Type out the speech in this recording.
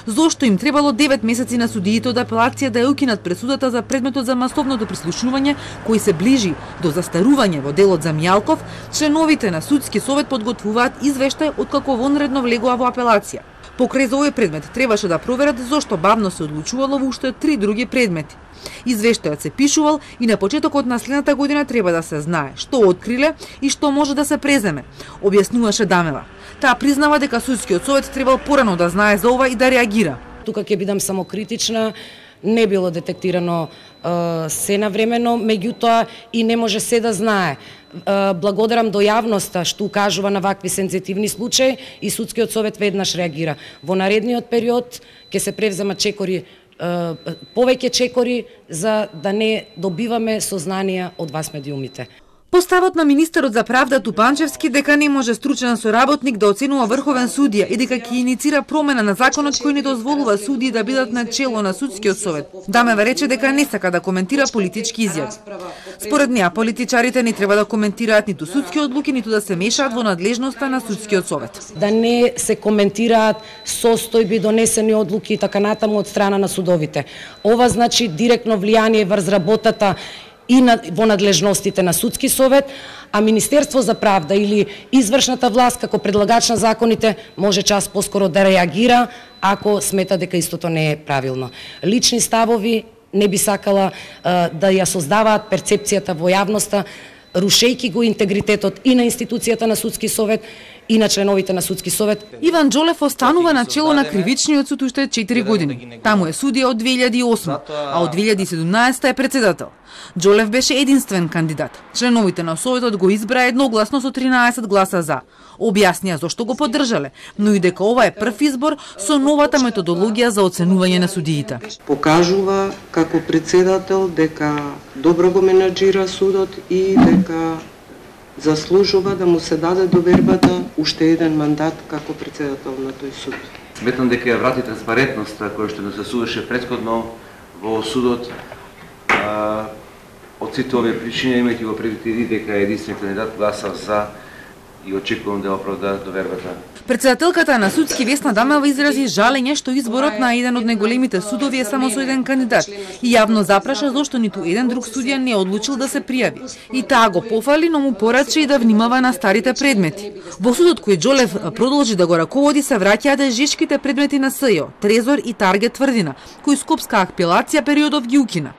Зошто им требало 9 месеци на судиите од апелација да ја укинат пресудата за предметот за масовното прислушнување, кој се ближи до застарување во делот за Мијалков, членовите на судски совет подготвуваат извештај откако вонредно влегува во апелација. Покрај за овој предмет требаше да проверат зошто бавно се одлучувало во уште 3 други предмети. Извештајот се пишувал и на почетокот на следната година треба да се знае што откриле и што може да се преземе, објаснуваше Дамева. Таа признава дека судскиот совет требал порано да знае за ова и да реагира. Тука ќе бидам самокритична, не било детектирано се навремено, меѓутоа и не може се да знае. Благодарам до јавноста што укажува на вакви сензитивни случаи и судскиот совет веднаш реагира. Во наредниот период ќе се превземат чекори, повеќе чекори за да не добиваме сознанија од вас медиумите. Поставот на министерот за правда Тупанчевски дека не може стручен соработник да оценува врховен судија и дека ќе иницира промена на законот кој не дозволува судии да бидат на чело на судскиот совет. Дамева рече дека не сака да коментира политички изјави. Според неа, политичарите не треба да коментираат ниту судски одлуки, ниту да се мешаат во надлежноста на судскиот совет. Да не се коментираат состојби, донесени одлуки и така натаму од страна на судовите. Ова значи директно влијание врз работата и во надлежностите на судски совет, а Министерство за правда или извршната власт како предлагач на законите може час поскоро да реагира ако смета дека истото не е правилно. Лични ставови не би сакала да ја создаваат перцепцијата во јавноста, рушејќи го интегритетот и на институцијата на судски совет и на членовите на судски совет. Иван Џолев останува на чело на кривичниот суд уште 4 години. Таму е судија од 2008, а од 2017 е председател. Џолев беше единствен кандидат. Членовите на советот го избраа едногласно со 13 гласа за. Објаснија зошто го поддржале, но и дека ова е прв избор со новата методологија за оценување на судиите. Покажува како председател дека добро го менаџира судот и дека заслужува да му се даде довербата уште еден мандат како председател на тој суд. Сметам дека ја врати транспарентноста која што не се судеше претходно во судот. Од сите овие причини, имајќи го предвид и дека единствен кандидат гласа за и очекувам да оправда довербата. Председателката на судски Весна Дамева изрази жалење што изборот на еден од најголемите судови е само со еден кандидат и јавно запраша зошто ниту еден друг судија не одлучил да се пријави. И таа го пофали, но му порача и да внимава на старите предмети. Во судот кој Џолев продолжи да го раководи се враќаат жешките предмети на СЈО, Трезор и Таргет тврдина, кои Скопска апелација периодов ги укина.